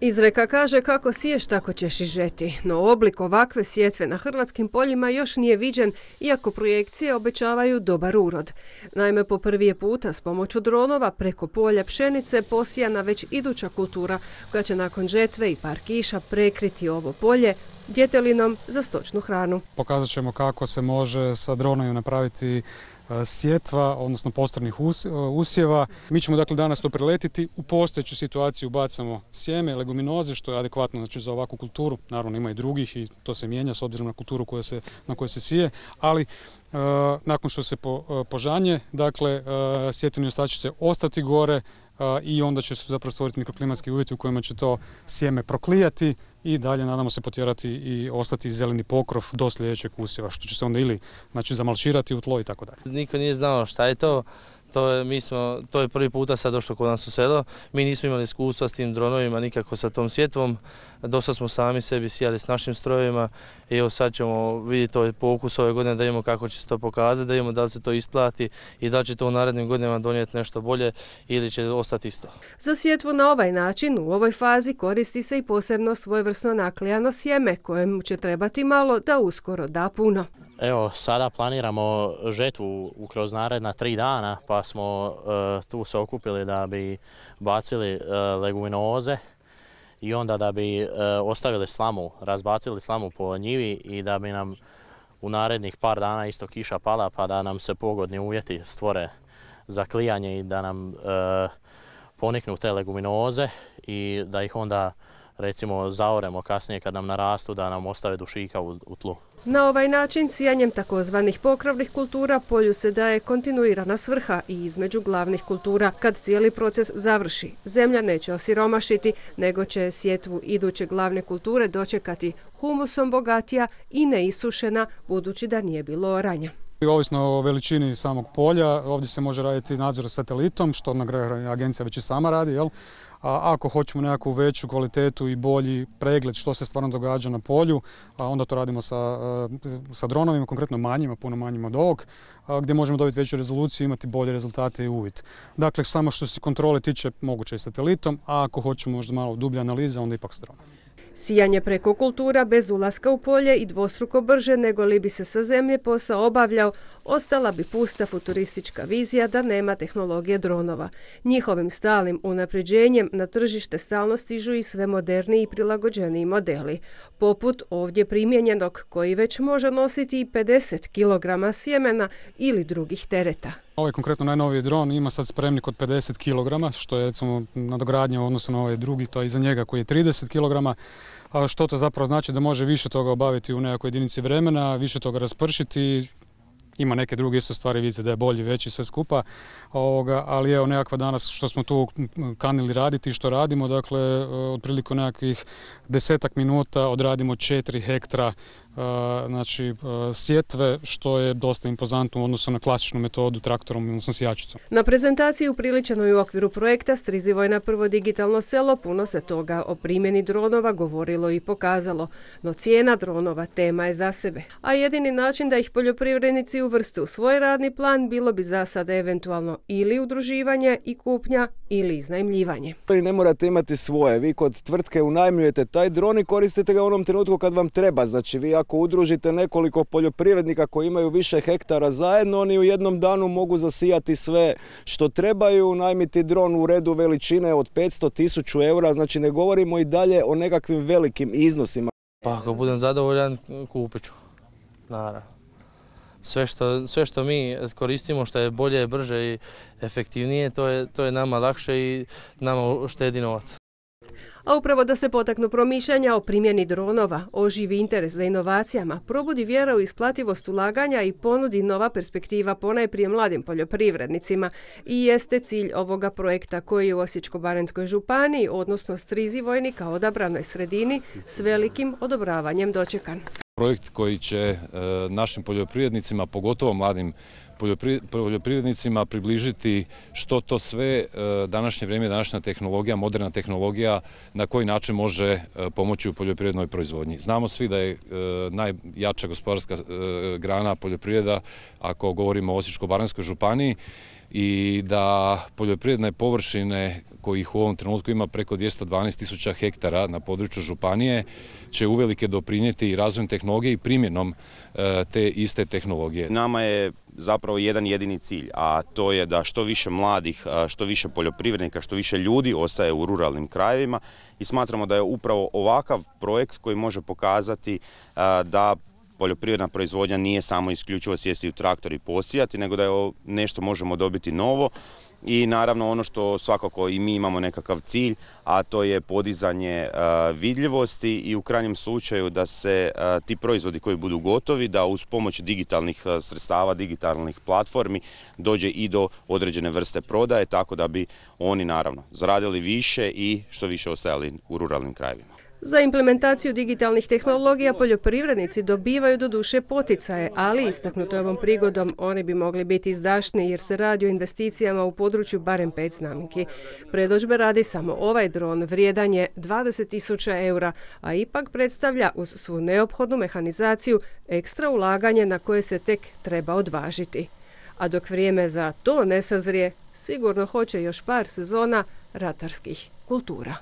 Izreka kaže kako siješ tako ćeš i žeti, no oblik ovakve sjetve na hrvatskim poljima još nije viđen, iako projekcije obećavaju dobar urod. Naime, po prvi je puta s pomoću dronova preko polja pšenice posijana već iduća kultura koja će nakon žetve i par kiša prekriti ovo polje djetelinom za stočnu hranu. Pokazat ćemo kako se može sa dronovima napraviti sjetva, odnosno postrnih usjeva. Mi ćemo dakle danas to preletiti, u postojeću situaciju bacamo sjeme, leguminoze, što je adekvatno znači, za ovakvu kulturu. Naravno ima i drugih i to se mijenja s obzirom na kulturu na kojoj se sije, ali nakon što se požanje, dakle sjetveni ostaci će ostati gore i onda će se zapravo stvoriti mikroklimatski uvjeti u kojima će to sjeme proklijati i dalje nadamo se potjerati i ostati zeleni pokrov do sljedećeg usjeva, što će se onda ili znači, zamalčirati u tlo i tako dalje. Niko nije znao šta je to. To je prvi puta sad došlo kod nas u selo. Mi nismo imali iskustva s tim dronovima, nikako sa tom sjetvom. Dosta smo sami sebi sijali s našim strojevima i evo sad ćemo vidjeti ovaj pokus ove godine da vidimo kako će se to pokazati, da vidimo da li se to isplati i da li će to u narednim godinama donijeti nešto bolje ili će ostati isto. Za sjetvu na ovaj način u ovoj fazi koristi se i posebno svojevrsno naklijano sjeme kojemu će trebati malo da uskoro da puno. Evo, sada planiramo žetvu kroz naredna 3 dana, pa smo tu se okupili da bi bacili leguminoze i onda da bi ostavili slamu, razbacili slamu po njivi i da bi nam u narednih par dana isto kiša pala pa da nam se pogodni uvjeti stvore za klijanje i da nam poniknu te leguminoze i da ih onda recimo zaoremo kasnije kad nam narastu da nam ostave dušika u tlu. Na ovaj način sijanjem takozvanih pokrovnih kultura polju se daje kontinuirana svrha i između glavnih kultura. Kad cijeli proces završi, zemlja neće osiromašiti, nego će sjetvu iduće glavne kulture dočekati humusom bogatija i neisušena, budući da nije bilo oranja. Ovisno o veličini samog polja, ovdje se može raditi nadzor satelitom, što na kraju agencija već i sama radi, jel? A ako hoćemo nekakvu veću kvalitetu i bolji pregled što se stvarno događa na polju, onda to radimo sa dronovima, konkretno manjima, puno manjima od ovog, gdje možemo dobiti veću rezoluciju i imati bolje rezultate i uvid. Dakle, samo što se kontrole tiče, moguće i satelitom, a ako hoćemo možda malo dublje analize, onda ipak s dronom. Sijanje preko kultura bez ulaska u polje i dvostruko brže nego li bi se sa zemlje posao obavljao, ostala bi pusta futuristička vizija da nema tehnologije dronova. Njihovim stalnim unapređenjem na tržište stalno stižu i sve moderniji i prilagođeniji modeli, poput ovdje primijenjenog koji već može nositi i 50 kg sjemena ili drugih tereta. Ovaj konkretno najnoviji dron ima sad spremnik od 50 kg, što je recimo nadogradnja u odnosu na ovaj drugi, to je iza njega koji je 30 kg. Što to zapravo znači da može više toga obaviti u nekakvoj jedinici vremena, više toga raspršiti. Ima neke druge isto stvari, vidite da je bolji, veći, sve skupa, ali evo nekakva danas što smo tu kanili raditi, što radimo, dakle otprilike nekakvih 10 minuta odradimo 4 hektara znači sjetve, što je dosta impozantno u odnosu na klasičnu metodu traktorom, odnosno sijačicom. Na prezentaciji upriličenoj u okviru projekta Strizivojna prvo digitalno selo puno se toga o primjeni dronova govorilo i pokazalo, no cijena dronova tema je za sebe, a jedini način da ih poljoprivrednici uvrste u svoj radni plan bilo bi za sada eventualno ili udruživanje i kupnja ili iznajmljivanje. Ne morate imati svoje, vi kod tvrtke unajmljujete taj dron i koristite ga u onom trenutku kad vam treba, znači vi ako udružite nekoliko poljoprivrednika koji imaju više hektara zajedno, oni u jednom danu mogu zasijati sve što trebaju, najmiti dron u redu veličine od 500.000 eura, znači ne govorimo i dalje o nekakvim velikim iznosima. Pa ako budem zadovoljan, kupit ću, naravno. Sve što mi koristimo, što je bolje, brže i efektivnije, to je nama lakše i nama štedi novac. A upravo da se potaknu promišljanja o primjeni dronova, oživi interes za inovacijama, probudi vjera u isplativost ulaganja i ponudi nova perspektiva ponajprije mladim poljoprivrednicima i jeste cilj ovoga projekta koji je u Osječko-baranjskoj županiji, odnosno Strizivojni kao odabranoj sredini, s velikim odobravanjem dočekan. Projekt koji će našim poljoprivrednicima, pogotovo mladim poljoprivrednicima, približiti što to sve današnje vrijeme, današnja tehnologija, moderna tehnologija, na koji način može pomoći u poljoprivrednoj proizvodnji. Znamo svi da je najjača gospodarska grana poljoprivreda, ako govorimo o Osječko-baranjskoj županiji, i da poljoprivredne površine kojih u ovom trenutku ima preko 212.000 hektara na području županije će uvelike doprinijeti i razvojem tehnologije i primjenom te iste tehnologije. Nama je zapravo jedan jedini cilj, a to je da što više mladih, što više poljoprivrednika, što više ljudi ostaje u ruralnim krajevima i smatramo da je upravo ovakav projekt koji može pokazati da poljoprivredna proizvodnja nije samo isključivo sjesti u traktor i posijati, nego da je nešto možemo dobiti novo. I naravno ono što svakako i mi imamo nekakav cilj, a to je podizanje vidljivosti i u krajnjem slučaju da se ti proizvodi koji budu gotovi, da uz pomoć digitalnih sredstava, digitalnih platformi dođe i do određene vrste prodaje, tako da bi oni naravno zaradili više i što više ostajali u ruralnim krajevima. Za implementaciju digitalnih tehnologija poljoprivrednici dobivaju doduše poticaje, ali istaknuto je ovom prigodom oni bi mogli biti izdašniji jer se radi o investicijama u području barem 5 znamenki. Predodžbe radi samo ovaj dron, vrijedan je 20.000 eura, a ipak predstavlja uz svu neophodnu mehanizaciju ekstra ulaganje na koje se tek treba odvažiti. A dok vrijeme za to ne sazrije, sigurno hoće još par sezona ratarskih kultura.